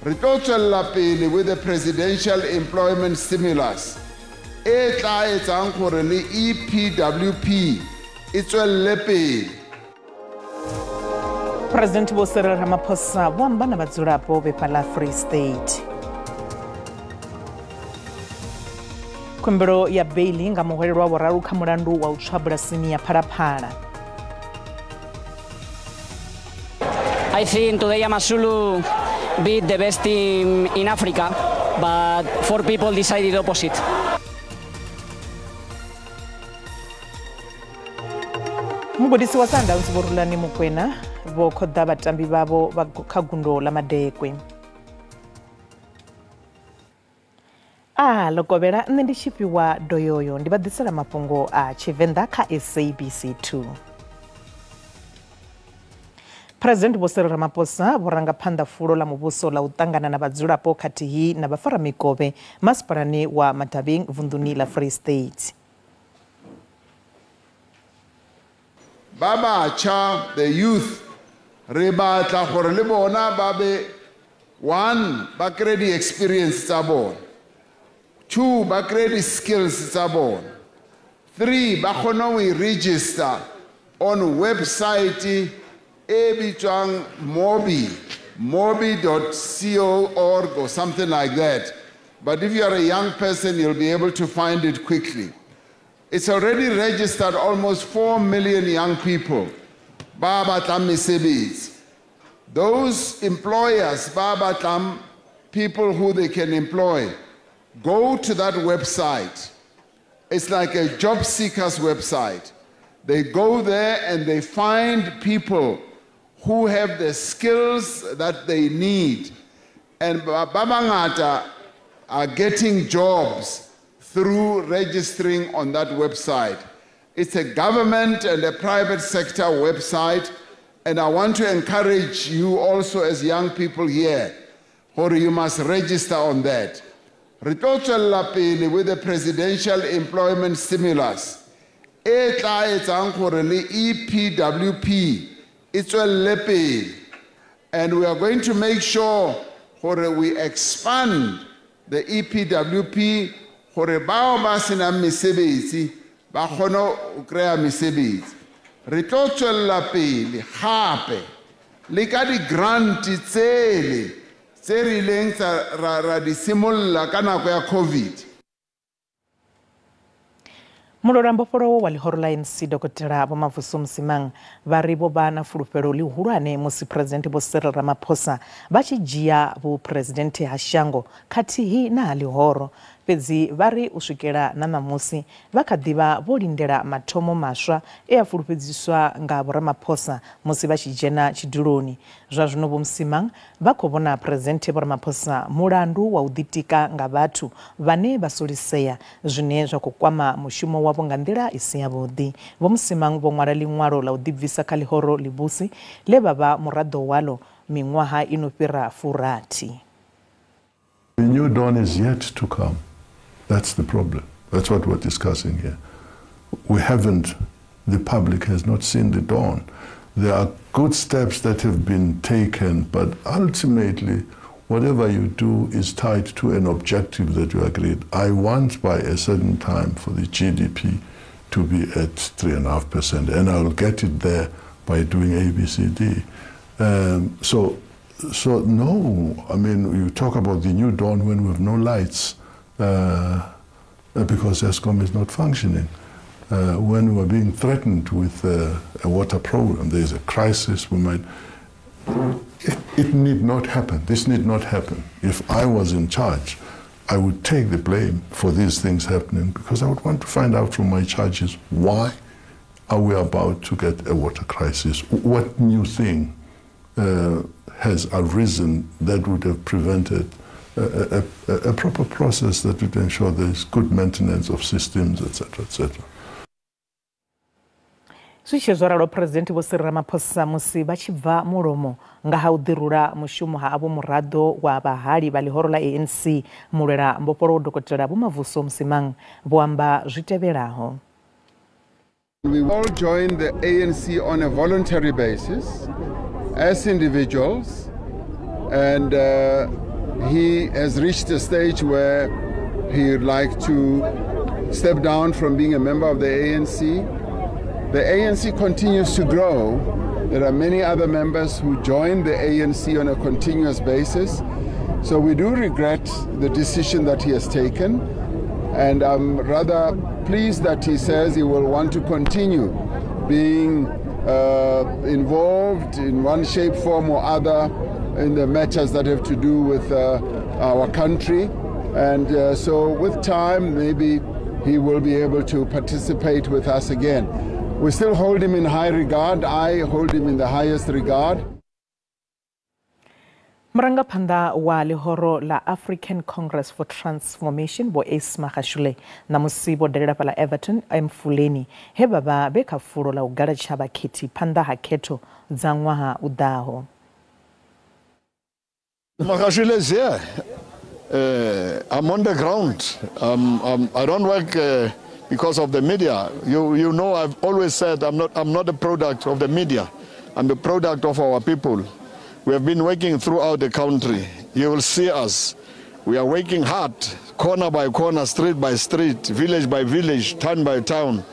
Re tlo tswella pele with the presidential employment stimulus e tla etsang gore le EPWP e tswelle pele. President Vho Cyril Ramaphosa vho amba na vhadzulapo vhe fhaḽa Free State. Khumbelo ya beili nga muhwelelwa wa vhuraru kha mulandu wa u tswa bulasini ya Phalaphala. I think today AmaZulu beat the best team in Africa, but 4 people decided opposite. Mugudisi wa Sundowns Vho Rulani Mokwena vho khoḓa vhatambi vhavho vha kha gundo ḽa Madekwe. Lokovhela nṋe ndi tshifhiwa doyoyo ndi vha ḓisela mafhungo a Tshivenḓa kha SABC 2. President Vho Cyril Ramaphosa vho ranga phanḓa fulo ḽa muvhuso ḽa u ṱangana na vhadzulapo khathihi na vhafaramikovhe masipalani wa Mathabeng vunḓuni ḽa Free State. Ba batjha, the youth, re batla gore le bona ba be 1 ba kry di-experience tsa bona, 2 ba kry di-skills tsa bona, 3 ba kgone go i-register on website e bitswang Mobi, mobi.co.org or something like that. But if you are a young person, you'll be able to find it quickly. It's already registered almost 4 million young people. Ba batlang mesebetsi. Those employers, ba batlang people who they can employ, go to that website. It's like a job seekers website. They go there and they find people who have the skills that they need. And ba bangata are getting jobs through registering on that website. It's a government and a private sector website, and I want to encourage you also as young people here, or you must register on that. Re tlo tswella pele with the presidential employment stimulus e tla etsang gore le EPWP e tswelle pele. And we are going to make sure gore we expand the EPWP gore bao ba senang mesebetsi ba kgone go kry-a mesebetsi. Re tlo tswella pele gape le ka di-grant tsele tse re ileng ra di simolla ka nako ya COVID. Mulwela mbofholowo wa ḽihoro ḽa ANC Dokotela Vho Mavuso Msimang vha ri vho vha na fulufhelo ḽihulwane musi President Vho Cyril Ramaphosa vha tshi dzhia vhuphuresidennde ha shango khathihi na ha ḽihoro. Fhedzi vha ri u swikela na ṋamusi vha kha ḓivha vho lindela mathomo maswa e a fulufhedziswa nga Vho Ramaphosa musi vha tshi dzhena tshiduloni. Zwa zwino Vho Msimang vha khou vhona President Vho Ramaphosa mulandu wa u ḓitika nga vhathu vhane vha solisea zwine zwa khou kwama mushumo wavho nga nḓila i si yavhuḓi. Vho Msimang vho ṅwala ḽiṅwalo ḽa u ḓibvisa kha ḽihoro ḽivhusi ḽe vha vha muraḓo waḽo miṅwaha i no fhira 60. The new dawn is yet to come. That's the problem. That's what we're discussing here. We haven't, the public has not seen the dawn. There are good steps that have been taken, but ultimately, whatever you do is tied to an objective that you agreed. I want by a certain time for the GDP to be at 3.5%, and I'll get it there by doing A, B, C, D. So no, I mean, you talk about the new dawn when we have no lights, because Eskom is not functioning. When we are being threatened with a water problem, there is a crisis, we might... It need not happen. This need not happen. If I was in charge, I would take the blame for these things happening, because I would want to find out from my charges, why are we about to get a water crisis? What new thing has arisen that would have prevented a proper process that would ensure there is good maintenance of systems, etc., etc. Zwi tshi zwo ralo, President Vho Cyril Ramaphosa musi vha tshi bva mulomo nga ha u ḓirula mushumo ha avho muraḓo wa vhahali vha ḽihoro ḽa ANC mulwela mbofholowo Dokotela Vho Mavuso Msimang vho amba zwi tevhelaho. We all joined the ANC on a voluntary basis as individuals, and He has reached a stage where he would like to step down from being a member of the ANC. The ANC continues to grow. There are many other members who join the ANC on a continuous basis. So we do regret the decision that he has taken. And I'm rather pleased that he says he will want to continue being involved in one shape, form or other in the matters that have to do with our country. And so with time, maybe he will be able to participate with us again. We still hold him in high regard. I hold him in the highest regard. Murangaphanḓa wa ḽihoro ḽa African Congress for Transformation Vho Ace Magashule ṋamusi vho dalela fhaḽa Everton Emfuleni he vha vha vhe kha fulo ḽa u galatsha vhakhethi phanḓa ha khetho dza ṅwaha u ḓaho. Magashule is here. I'm on the ground. I don't work because of the media. You know, I've always said I'm not a product of the media. I'm the product of our people. We have been working throughout the country. You will see us. We are working hard, corner by corner, street by street, village by village, town by town.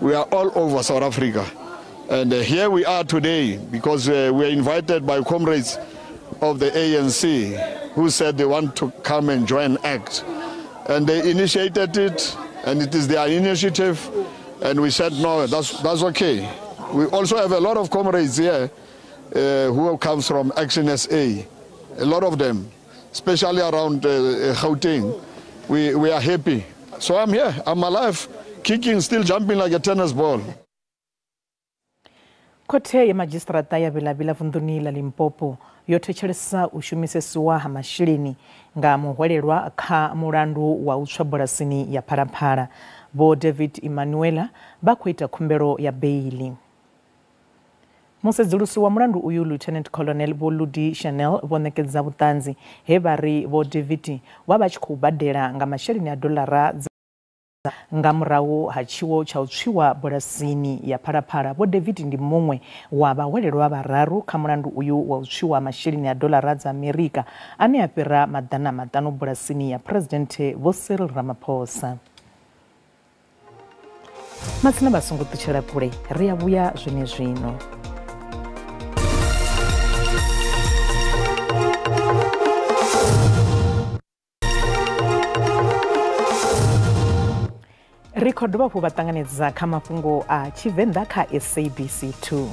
We are all over South Africa. And here we are today because we are invited by comrades of the ANC who said they want to come and join ACT. And they initiated it, and it is their initiative. And we said, no, that's okay. We also have a lot of comrades here who comes from Action SA, a lot of them, especially around Gauteng. We are happy. So I'm here, I'm alive, kicking, still jumping like a tennis ball. Khothe ya madzhisiṱiraṱa ya Vilavila vunḓuni ḽa Limpopo yo thetshelesa u shumisesiwa ha masheleni nga muhwelelwa kha mulandu wa u tswa bulasini ya Phalaphala. Vho David Emanuela vha khou ita khumbelo ya beili. Musedzulusi wa mulandu uyu Lieutenant Colonel Vho Ludi Chanel vho ṋekedza vhuṱanzi he vha ri Vho David vha vha tshi khou badela nga masheleni a dolara nga murahu ha tshiwo tsha u tswiwa bulasini ya Phalaphala. Vho David ndi muṅwe wa vhahwelelwa vhararu kha mulandu uyu wa u tswiwa masheleni a dolara dza Amerika ane a fhira 500 bulasini ya President Vho Cyril Ramaphosa. Matsina vha songo ṱutshela kule, ri a vhuya zwenezwino. Ri khou dovha hafhu vha ṱanganedza kha mafhungo a Tshivenḓa kha SABC 2.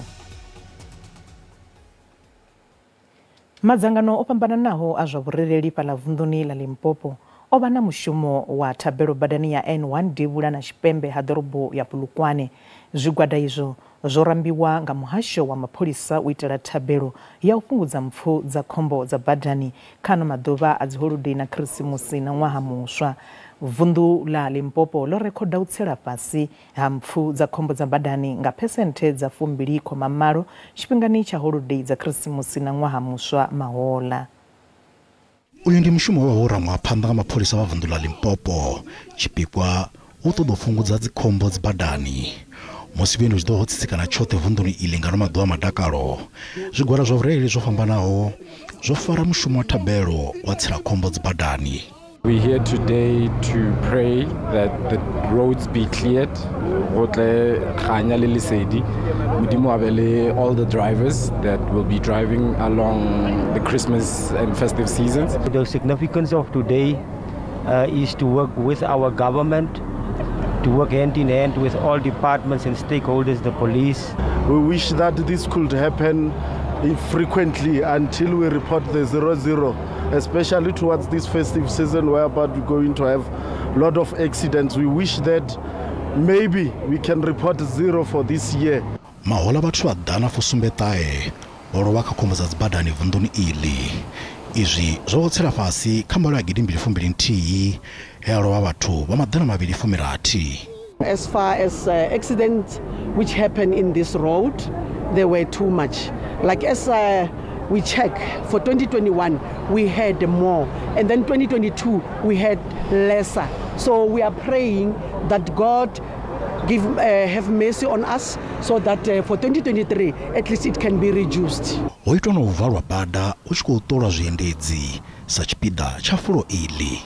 Madzangano o fhambananaho a zwa vhurereli fhaḽa vunḓuni ḽa Limpopo o vha na mushumo wa thabelo badani ya N1 devhula na tshipembe ha ḓorobo ya Polokwane. Zwigwada izwo zwo rambiwa nga muhasho wa mapholisa u itela thabelo ya u fhungudza mpfu dza khombo dza badani kha ano maḓuvha a dziholodei na Khirisimusi na ṅwaha muswa. Vunḓu ḽa Limpopo ḽo rekhoda u tsela fhasi ha mpfu dza khombo dza badani nga phesenthe dza 20.8 tshifhingani tsha holodei dza Khirisimusi na ṅwaha muswa mahola. Uyu ndi mushumo wa wo rangwa phanḓa nga mapholisa vha vunḓu ḽa Limpopo. Tshipikwa hu ṱoḓa u fhungudza dzikhombo dzi badani. Musi vhuendi zwi ḓo ho tsitsikana tshoṱhe vunḓuni iḽi nga maḓuvha a madakalo, zwigwada zwa vhurereli zwo fhambanaho zwo fara mushumo wa thabelo wa tsela khombo dzi badani. We're here today to pray that the roads be cleared. All the drivers that will be driving along the Christmas and festive seasons. The significance of today is to work with our government, to work hand in hand with all departments and stakeholders, the police. We wish that this could happen frequently until we report the 00, especially towards this festive season whereby we're going to have a lot of accidents. We wish that maybe we can report 0 for this year. Mahola vhathu vha 179 vho lovha kha khombo dza dzibadani vunḓuni iḽi. Izwi zwo tsela fhasi kha mbalo ya 2021 he a lovha vhathu vha 260. As far as accidents which happen in this road, they were too much. Like as we check for 2021, we had more, and then 2022 we had lesser. So we are praying that God have mercy on us so that for 2023 at least it can be reduced. Ho itwa na u valwa bada hu tshi khou ṱolwa zwiendedzi sa tshipiḓa tsha fulo iḽi.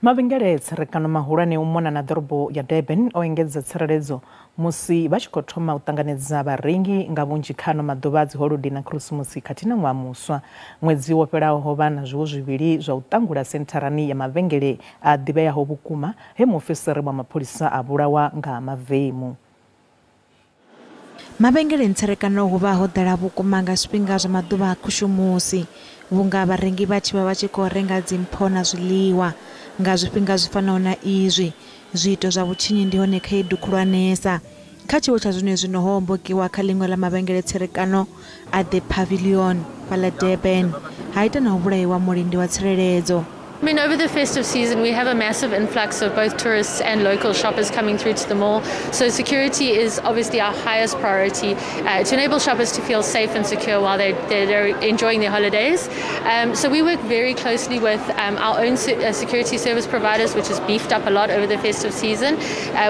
Mavhengele tserekano mahulwane u mona na ḓorobo ya Durban o engedza tsireledzo musi vha tshi khou thoma u ṱanganedza vharengi nga vhunzhi kha ano maḓuvha a dziholodi na Khirisimusi khathihi na ṅwaha muswa. Ṅwedzi wo fhelaho ho vha na zwiwo zwivhili zwa u ṱangula sentharani ya mavhengele a ḓivheaho vhukuma he muofisiri wa mapholisa a vhulawa nga mavemu. Mavhengele tserekano hu vha ho ḓala vhukuma nga zwifhinga zwa maḓuvha a khushumusi, vhunga vharengi vha tshi vha vha tshi khou renga dzimpho na zwiḽiwa. Nga zwifhinga zwi fanaho na izwi, zwiito zwa vhutshinyi ndi hone khaedu khulwanesa. Kha tshiwo tsha zwenezwino ho hombokiwa kha ḽiṅwe ḽa mavhengele tserekano a The Pavilion fhaḽa Durban, ha ita na u vhulaiwa mulindi wa tsireledzo. I mean, over the festive season, we have a massive influx of both tourists and local shoppers coming through to the mall. So security is obviously our highest priority to enable shoppers to feel safe and secure while they're enjoying their holidays. So we work very closely with our own security service providers, which has beefed up a lot over the festive season.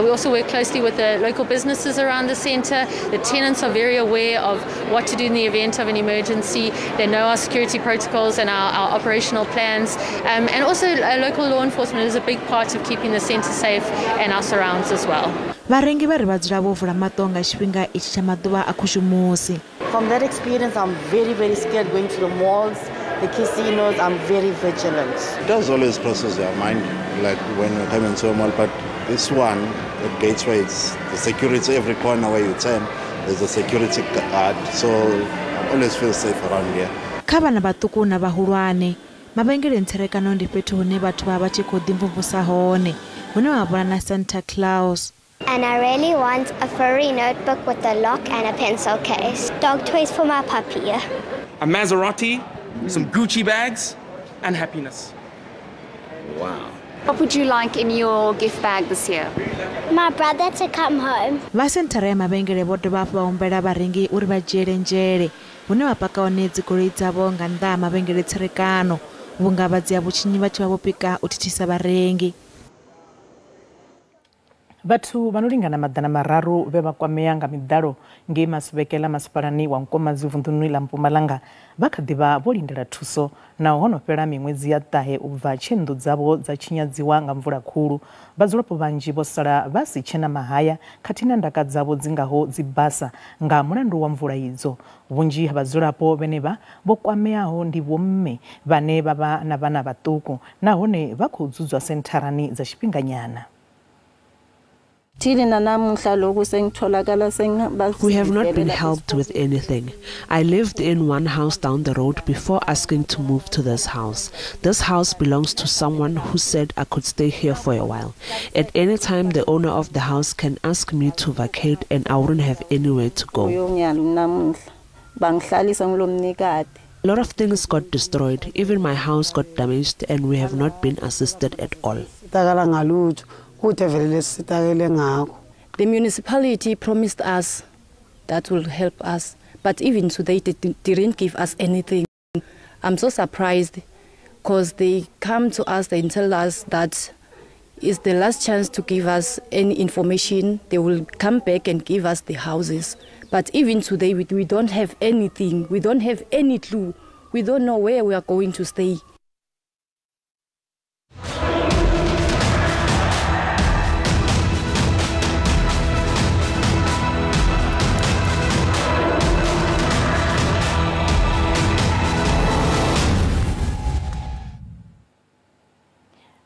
We also work closely with the local businesses around the centre. The tenants are very aware of what to do in the event of an emergency. They know our security protocols and our operational plans. And also local law enforcement is a big part of keeping the centre safe and our surrounds as well. Vharengi vha ri vha dzula vho vula maṱo nga tshifhinga itshi tsha maḓuvha a khushumusi. From that experience, I'm very, very scared going to the malls, the casinos. I'm very vigilant. It does always crosses your mind, like when you come into a mall, but this one at Gateway, it's the security every corner where you turn, there's a security guard, so I always feel safe around here. Kha vhana vhaṱuku na vhahulwane, mavhengele tserekano ndi fhethu hune vhathu vha vha tshi khou ḓimvumvusa hone, hune vha vhona na Santa Claus. And I really want a furry notebook with a lock and a pencil case. Dog toys for my puppy. A Maserati, some Gucci bags, and happiness. Wow. What would you like in your gift bag this year? My brother to come home. Vha senthara ya mavhengele vho dovha hafhu vha humbela vharengi uri vha dzhiele nzhele hune vha paka hone dzigoloi dzavho nga nnḓa ha mavhengele tserekano, vhunga vhadzia vhutshinyi vha tshi vha vho pika u thithisa vharengi. Vhathu vha no lingana 300 vhe vha kwamea nga miḓalo ngei Masubekela masipalani wa Nkomazi vunḓuni ḽa Mpumalanga vha kha ḓi vha vho lindela thuso naho ho no fhela miṅwedzi ya 9 u bva tshe nnḓu dzavho dza tshinyadziwa nga mvula khulu. Vhadzulapo vhanzhi vho sala vha si tshena mahaya khathihi na ndaka dzavho dzi ngaho dzibasa nga mulandu wa mvula idzo. Vhunzhi ha vhadzulapo vhenevha vho kwameaho ndi vhomme vhane vha vha na vhana vhaṱuku nahone vha khou dzudzwa sentharani dza tshifhinganyana. We have not been helped with anything. I lived in one house down the road before asking to move to this house. This house belongs to someone who said I could stay here for a while. At any time, the owner of the house can ask me to vacate and I wouldn't have anywhere to go. A lot of things got destroyed. Even my house got damaged and we have not been assisted at all. The municipality promised us that will help us, but even today they didn't give us anything. I'm so surprised because they come to us and tell us that it's the last chance to give us any information. They will come back and give us the houses. But even today we don't have anything. We don't have any clue. We don't know where we are going to stay.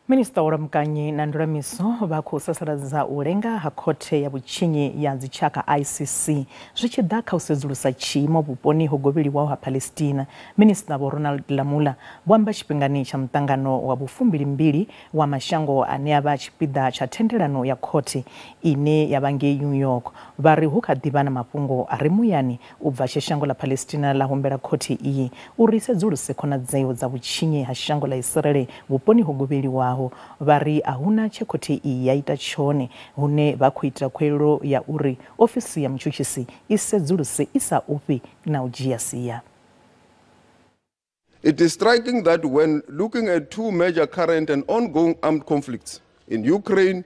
Minista wa Vhulamukanyi na Ndulamiso vha khou sasaladza u lenga ha khothe ya vhutshinyi ya dzitshaka ICC zwi tshi ḓa kha u sedzulusa tshiimo vhuponi ho govheliwaho ha Palestina. Minista Vho Ronald Lamola vho amba tshifhingani tsha muṱangano wa 22 wa mashango ane a vha tshipiḓa tsha thendelano ya khothe ine ya vha ngei New York. Vha ri hu kha ḓi vha na mafhungo a re muyani u bva tshe shango ḽa Palestina ḽa humbela khothe iyi uri sedzuluse khonadzeo dza vhutshinyi ha shango ḽa Israel vhuponi ho govheliwaho. Vha ri a huna tshe khothe iyi ya ita tshone, hune vha khou ita khuwelelo ya uri ofisi ya mutshutshisi i sedzuluse i sa ofhi na u dzhia sia. It is striking that when looking at two major current and ongoing armed conflicts in Ukraine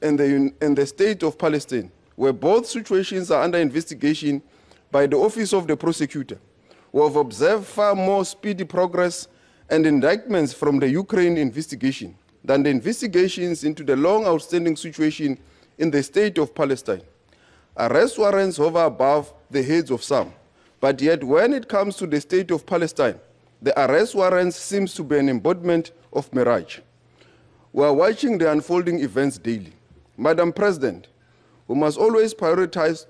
and the state of Palestine, where both situations are under investigation by the Office of the Prosecutor. We have observed far more speedy progress and indictments from the Ukraine investigation than the investigations into the long outstanding situation in the state of Palestine. Arrest warrants hover above the heads of some, but yet when it comes to the state of Palestine, the arrest warrants seems to be an embodiment of mirage. We are watching the unfolding events daily. Madam President, we must always prioritize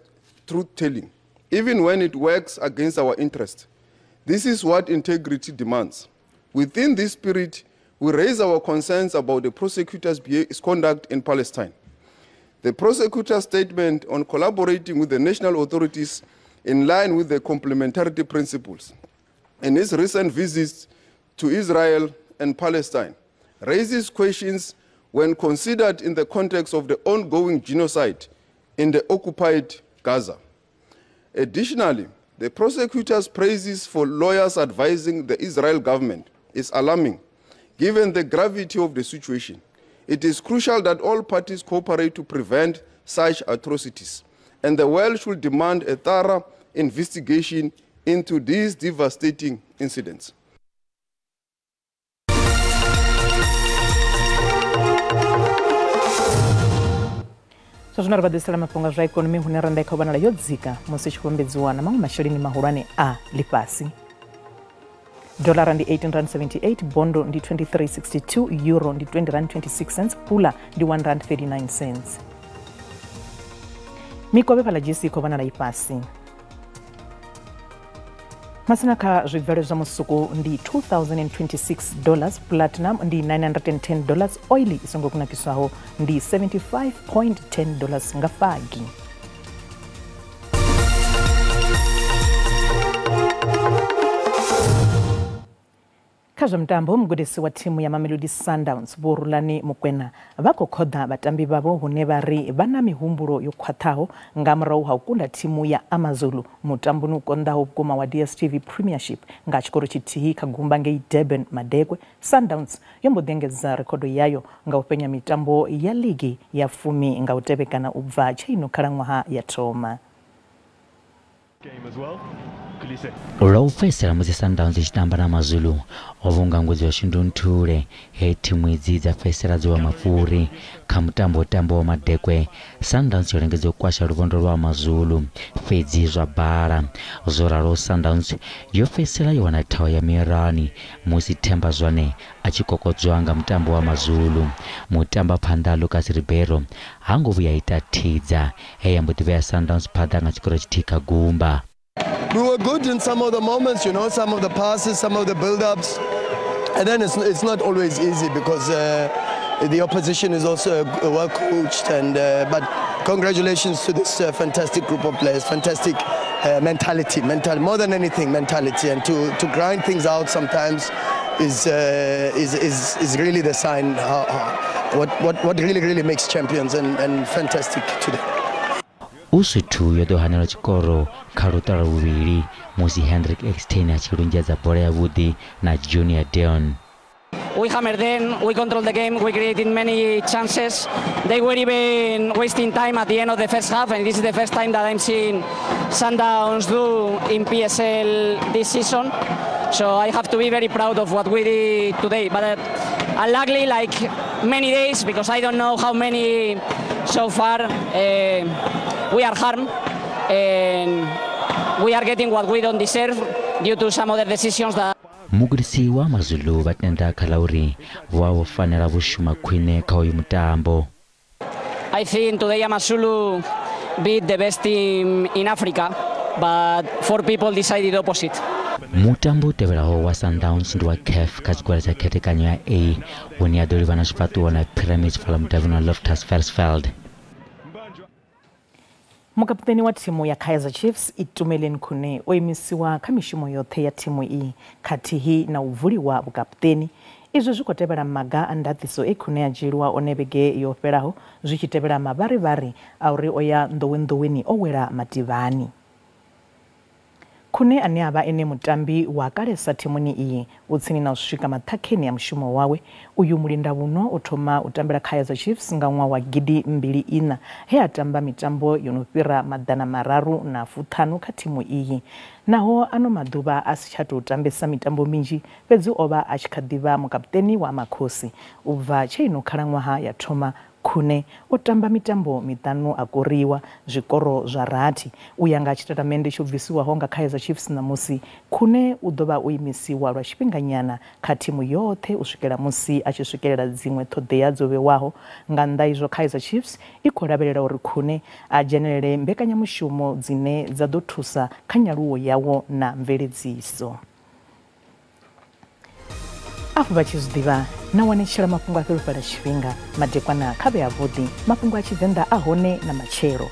truth-telling, even when it works against our interest. This is what integrity demands. Within this spirit, we raise our concerns about the prosecutor's conduct in Palestine. The prosecutor's statement on collaborating with the national authorities in line with the complementarity principles and his recent visits to Israel and Palestine raises questions when considered in the context of the ongoing genocide in the occupied Gaza. Additionally, the prosecutor's praises for lawyers advising the Israel government is alarming, given the gravity of the situation. It is crucial that all parties cooperate to prevent such atrocities, and the world should demand a thorough investigation into these devastating incidents. Zwa zwino ri vha ḓisela mafhungo a zwa ikonomi hune randa i khou vhonala yo dzika musi tshi khou vhambedziwa na maṅwe masheleni mahulwane a ḽifhasi. Dollar ndi R18.78, bondo ndi 23.62, euro ndi R20.26, pula ndi R1.39. Mikovhe fhaḽa GC i khou vhonala i fhasi. Masina kha zwibveledzwa zwa musuku ndi $2,026, platinum ndi $910, oil i songo kunakiswaho ndi $75.10 nga fagi. Kha zwa mutambo, mugudisi wa thimu ya Mamelodi Sundowns Vho Rulani Mokwena vha khou khoḓa vhatambi vhavho hune vha ri vha na mihumbulo yo khwaṱhaho nga murahu ha u kunda thimu ya AmaZulu mutamboni u konḓaho vhukuma wa DStv Premiership nga tshikoro tshithihi kha gumba ngei Durban Madekwe. Sundowns yo mbo ḓi engedza rekhodo yayo nga u fhenya mitambo ya ligi ya 10 nga u tevhekana u bva tsheino khalaṅwaha ya thoma. Lwa u fhedzisela musi Sundowns i tshi tamba na AmaZulu o vhunga ngudzi wa Shundunthule he thimu idzi dza fhedzisela dzo wa mafhuri. Kha mutambo wa Madekwe, Sundowns yo lingedza u kwasha luvhondo lwa AmaZulu fhedzi zwa bala. Zwo ralo Sundowns yo fhedzisela yo wana thaho ya mirani musi Themba Zwane a tshi kokodzwa nga mutambo wa AmaZulu. Mutamba phanḓa Lucas Ribeiro ha ngo vhuya ita thidza he ya mbo ḓi vhea Sundowns phanḓa nga tshikoro tshithihi kha gumba. We were good in some of the moments, you know, some of the passes, some of the build-ups. And then it's not always easy because the opposition is also well coached. And but congratulations to this fantastic group of players, fantastic mentality, more than anything, mentality. And to grind things out sometimes is really the sign what really makes champions, and fantastic today. Usuthu yo ḓo hanelwa tshikoro kha luṱa lwa vhuvhili musi Hendrik Ekstein a tshi lunzhedza bola yavhuḓi na Junior Dion. We hammered them, we controlled the game, we created many chances. They were even wasting time at the end of the first half, and this is the first time that I'm seeing Sundowns do in PSL this season. So I have to be very proud of what we did today. But unluckily, like many days, because I don't know how many so far, we are harmed and we are getting what we don't deserve due to some other decisions that. Mugudisi wa AmaZulu vha tenda kha ḽa uri vho vha vho fanela vho shuma khwine kha uyu mutambo. I think today AmaZulu beat the best team in Africa, but 4 people decided opposite. Mutambo u tevhelaho wa Sundowns ndi wa CAF kha tshigwada tsha khethekanyo ya A hune ya ḓo livhana zwifhaṱuwo na Pyramids fhaḽa mudavhini wa Loftus Versfeld. Mukaputeni wa thimu ya Kaizer Chiefs Itumeleng Khune o imisiwa kha mishumo yoṱhe ya thimu iyi khathihi na u vuliwa vhukaputeni. Izwi zwi khou tevhela maga a ndaṱiso e Khune a dzhielwa one vhege yo fhelaho zwi tshi tevhela mavharivhari a uri o ya nḓowenḓoweni o wela mativhani. Khune ane a vha ene mutambi wa kalesa thimuni iyi u tsini na u swika maṱhakheni ya mushumo wawe. Uyu mulindavhuno o thoma u tambela Kaizer Chiefs nga ṅwaha wa 2004 he a tamba mitambo yo no fhira 350 kha thimu iyi. Naho ano maḓuvha a si tsha tou tambesa mitambo minzhi, fhedzi o vha a tshi kha ḓivha mukaputeni wa Amakhosi. U bva tshe ino khalaṅwaha ya thoma, Khune o tamba mitambo miṱanu a koriwa zwikoro zwa rathi. U ya nga tshitatamennde tsho bvisiwaho nga Kaizer Chiefs ṋamusi, Khune u ḓo vha o imisiwa lwa tshifhinganyana kha thimu yoṱhe u swikela musi a tshi swikelela dziṅwe ṱhoḓea dzo vhewaho. Nga nnḓa izwo, Kaizer Chiefs i khou lavhelela uri Khune a dzhenelele mbekanyamushumo dzine dza ḓo thusa kha nyaluwo yawo na mveledziso. Afho vha tshi zwi ḓivha na wanetshela mafhungo a fhelufhala tshifhinga madekwana kha vhe avhuḓi. Mafhungo a Tshivenḓa a hone na matshelo.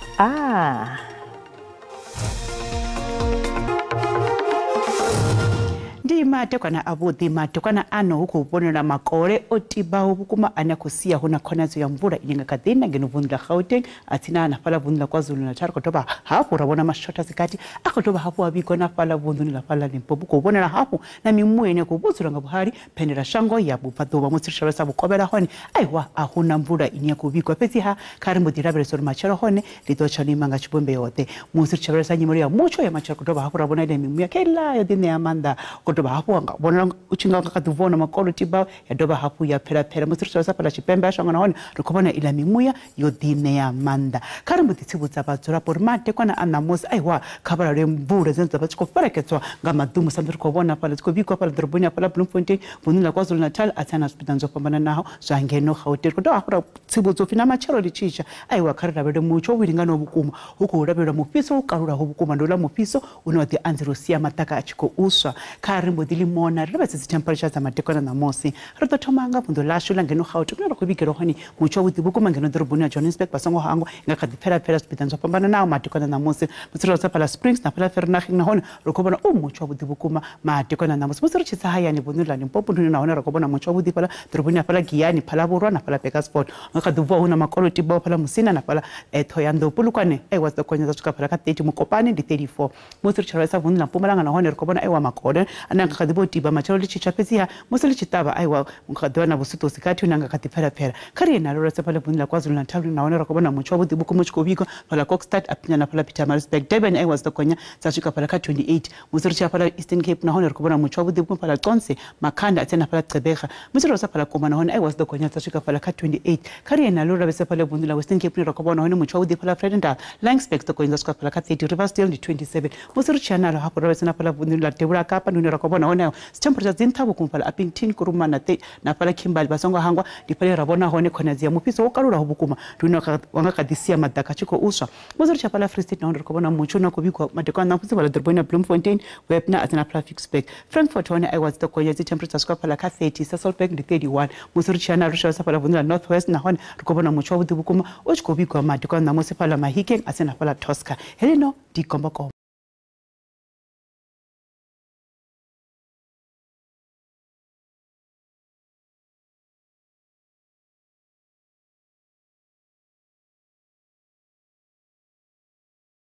Ndi madekwana avhuḓi. Madekwana ano hu khou vhonala makole o tibaho vhukuma ane a khou sia hu na khonadzeo ya mvula ine nga kha ḓi na ngeno vunḓu ḽa Gauteng a tsina na fhaḽa vunḓu ḽa KwaZulu-Natal. Khou dovha hafhu ra vhona mashotha dzikati a khou dovha hafhu a vhigwa na fhaḽa vunḓuni ḽa fhaḽa Limpopo. Khou vhonala hafhu na mimuya ine ya khou vhudzula nga vhuhali phendela shango ya vhubvaḓuvha. Musi ri tshi lavhelesa vhukovhela hone aiwa a hu na mvula ine ya khou vhigwa, fhedziha kha ri mbo ḓi lavhelesa uri matshelo hone ḽi ḓo tsha no ima nga tshivhumbeo ḓe. Musi ri tshi lavhelesa nyimelo ya mutsho ya matshelo, khou dovha hafhu ra vhona ile mimuya kheiḽa yo ḓi ṋea maanḓa. Khou dovha hafhu nga vhonala u tshi nga kha ḓi vhona makolo tiba ya dovha hafhu ya phela phela. Musi ri tshi lavhelesa fhaḽa tshipembe ha shango nahone ri khou vhona iḽa mimuya yo ḓi ṋea maanḓa. Kha ri mbo ḓi tsivhudza vhadzulapo uri madekwana a ṋamusi aiwa kha vha lalwe mvula dzine dza vha tshi khou fhelekedzwa nga maḓumu, sa ri khou vhona fhaḽa dzi khou vhigwa fhaḽa ḓoroboni ya fhaḽa Bloemfontein vunḓuni ḽa KwaZulu-Natal a tsina na zwipiḓa zwo fhambananaho zwa ngeno Gauteng. Ri khou dovha hafhu ra tsivhudza upfhi na matshelo ḽi tshi tsha aiwa kha ri lavhelele mutsho wo linganaho vhukuma. Hu khou lavhelelwa mufhiso wo kalulaho vhukuma, ndi uḽa mufhiso une wa ḓi anzela u sia maṱaka a tshi khou swa. Kha ri mbo ḓi limona ri lavhelese dzi temperature dza madekwana ṋamusi. Ri ḓo thoma nga vunḓu ḽashu ḽa ngeno Gauteng kune ra khou vhigelwa hone mutsho wavhuḓi vhukuma ngeno ḓoroboni ya Johannesburg. Vha songo hangwa nga kha ḓi phela phela zwipiḓa zwo fhambananaho madekwana ṋamusi. Musi ri fhaḽa Springs na fhaḽa Vereeniging nahone ri khou vhona mutsho wavhuḓi vhukuma madekwana ṋamusi. Musi ri tshi tsa hayani vunḓuni ḽa Limpopo ndi nahone ri khou vhona mutsho wavhuḓi fhaḽa ḓoroboni ya fhaḽa Giyani, Phalavhurwa na fhaḽa Bakersford. Nga kha ḓi bva hu na makolo tibaho fhaḽa Musina na fhaḽa Thohoyandou. Polokwane aiwa dzi ḓo gonya dza swika fhaḽa kha 30, Mokopane ndi 34. Musi ri tshi lavhelesa vunḓu ḽa Mpumalanga nahone ri khou vhona aiwa makole ane a nga kha ḓi vho tiba matshelo ḽi tshi tsha, fhedziha musi ḽi tshi ṱavha aiwa nga ḓivha na vhusuṱusi kati hune nga kha ḓi phela phela. Kha ri ye nalo lavhelesa fhaḽa vunḓu ḽa KwaZulu-Natal nahone ri khou vhona mutsho wavhuḓi vhukuma u tshi khou vhigwa fhaḽa Kokstad a phinya na fhaḽa Pietermaritzburg. Durban aiwa dzi ḓo gonya dza swika fhaḽa kha 28. Musi ri tshi ya fhaḽa Eastern Cape nahone ri khou vhona mutsho wavhuḓi vhukuma fhaḽa Qonce, Makhanda a tsena fhaḽa Gqeberha. Musi ri sa fhaḽa Koma nahone aiwa dzi ḓo gonya dza swika fhaḽa kha 28. Kha ri ye nalo lavhelesa fhaḽa vunḓu ḽa Western Cape ri khou vhona hone mutsho wavhuḓi fhaḽa Vredendal, Laingsburg dzi ḓo gonya dza swika fhaḽa kha 30, Riversdale ndi 27. Musi ri tshi ya nalo hafhu lavhelesa na fhaḽa vunḓu ḽa Devhula Kapa ndi hune ra khou vhona hone dzi temperature dzi nṱha vhukuma fhaḽa Upington, Kuruma na fhaḽa Kimberley. Vha songo hangwa ndi fhaḽa ra vhona hone khonadzeo ya mufhiso wo kalulaho vhukuma, ndi hune wa nga kha ḓi sia maḓaka a tshi khou swa. Musi ri tshi ya fhaḽa Free State nahone ri khou vhona mutsho une wa khou vhigwa madekwana ṋamusi fhaḽa ḓoroboni ya Bloemfontein, Webner a tsena fhaḽa Ficksburg. Frankfurt hone aiwa dzi ḓo gonya dzi temperature swika fhaḽa kha 30, Sasolburg ndi 31. Musi ri tshi ya nalo ri tshi fhaḽa vunḓu ḽa North West nahone ri khou vhona mutsho wavhuḓi vhukuma u tshi khou vhigwa madekwana ṋamusi fhaḽa Mahikeng a tsena fhaḽa Tosca. Heleno ndi Gombokombo.